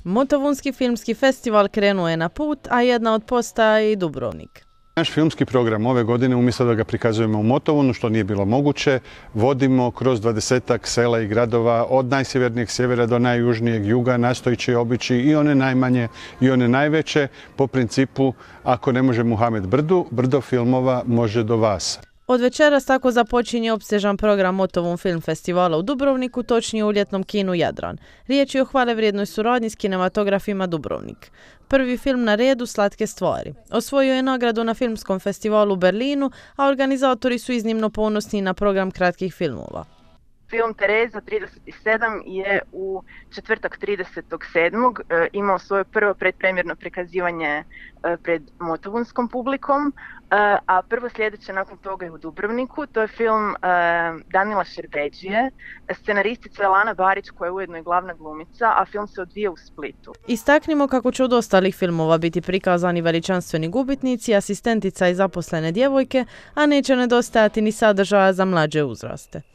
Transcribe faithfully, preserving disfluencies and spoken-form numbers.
Motovunski filmski festival krenuo je na put, a jedna od postaja je i Dubrovnik. Naš filmski program ove godine, umjesto da ga prikazujemo u Motovunu, što nije bilo moguće, vodimo kroz dvadesetak sela i gradova od najsjevernijeg sjevera do najjužnijeg juga, nastojići obići i one najmanje i one najveće, po principu ako ne može Muhamed brdu, brdo filmova može do vas. Od večeras tako započinje opsežan program Motovun film festivala u Dubrovniku, točnije u ljetnom kinu Jadran. Riječ je o hvalevrijednoj suradnji s kinematografima Dubrovnik. Prvi film na redu Slatke stvari. Osvojio je nagradu na filmskom festivalu u Berlinu, a organizatori su iznimno ponosni na program kratkih filmova. Film Tereza trideset sedam je u četvrtak tridesetog sedmog imao svoje prvo predpremjerno prikazivanje pred motovunskom publikom, a prvo sljedeće nakon toga je u Dubrovniku. To je film Danila Šerbedžije, scenaristica Lana Barić koja je ujedno i glavna glumica, a film se odvija u Splitu. Istaknimo kako će od ostalih filmova biti prikazani veličanstveni gubitnici, asistentica i zaposlene djevojke, a neće nedostajati ni sadržaja za mlađe uzraste.